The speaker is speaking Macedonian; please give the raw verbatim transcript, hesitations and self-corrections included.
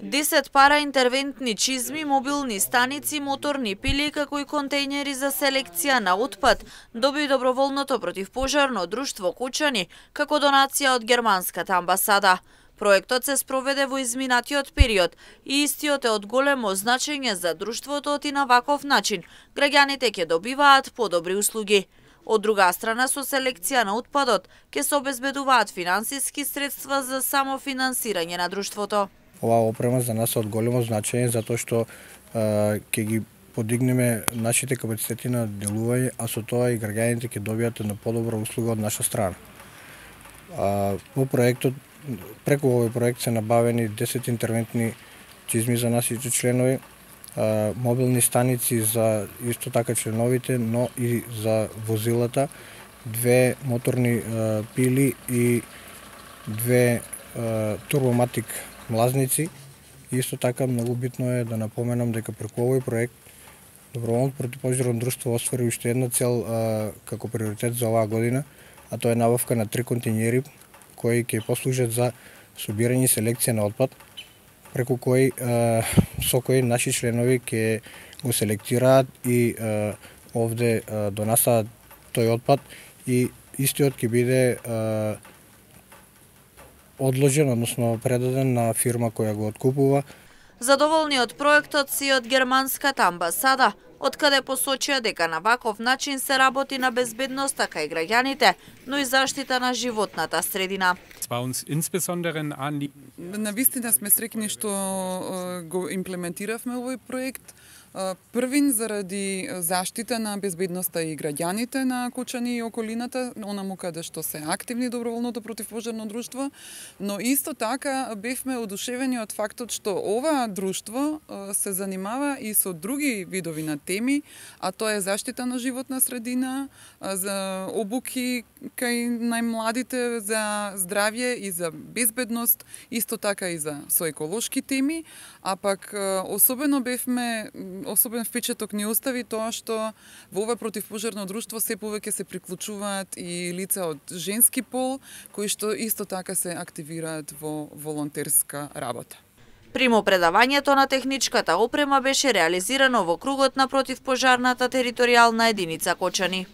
десет параинтервентни чизми, мобилни станици, моторни пили, како и контејнери за селекција на отпад доби доброволното противпожарно друштво Кочани како донација од германската амбасада. Проектот се спроведе во изминатиот период и истиот е од големо значење за друштвото и на ваков начин граѓаните ќе добиваат подобри услуги. Од друга страна, со селекција на отпадот ќе се обезбедуваат финансиски средства за самофинансирање на друштвото. Оваа опрема за нас е од големо значење затоа што ќе ги подигнеме нашите капацитети на делување, а со тоа и граѓаните ќе добијат на подобра услуга од наша страна. А, во проектот, преку овој проект се набавени десет интервентни чизми за нашите членови, а, мобилни станици за исто така членовите, но и за возилата, две моторни а, пили и две а, турбоматик млазници. Исто така многу битно е да напоменам дека преку овој проект доброволното противпожарно друштво оствари уште една цел а, како приоритет за оваа година, а тоа е набавка на три контејнери кои ќе послужат за собирање и селекција на отпад, преку кои а, со кои наши членови ќе го селектираат и а, овде а, донасаат тој отпад и истиот ќе биде а, одложен, односно предаден на фирма која го откупува. Задоволни од проектот си од германската амбасада, откаде посочија дека на ваков начин се работи на безбедност така и граѓаните, но и заштита на животната средина. Навистина сме среќни што го имплементиравме овој проект. Првин заради заштита на безбедноста и граѓаните на Кочани и околината, онаму каде што се активни доброволното противпожарно друштво, но исто така бевме одушевени од фактот што ова друштво се занимава и со други видови на теми, а тоа е заштита на животна средина, за обуки кај најмладите, за здравје и за безбедност, исто така и за со еколошки теми, а пак особено бевме особен впечаток ни остави тоа што во ова противпожарно друштво се повеќе се приклучуваат и лица од женски пол, кои што исто така се активираат во волонтерска работа. Примопредавањето на техничката опрема беше реализирано во кругот на противпожарната територијална единица Кочани.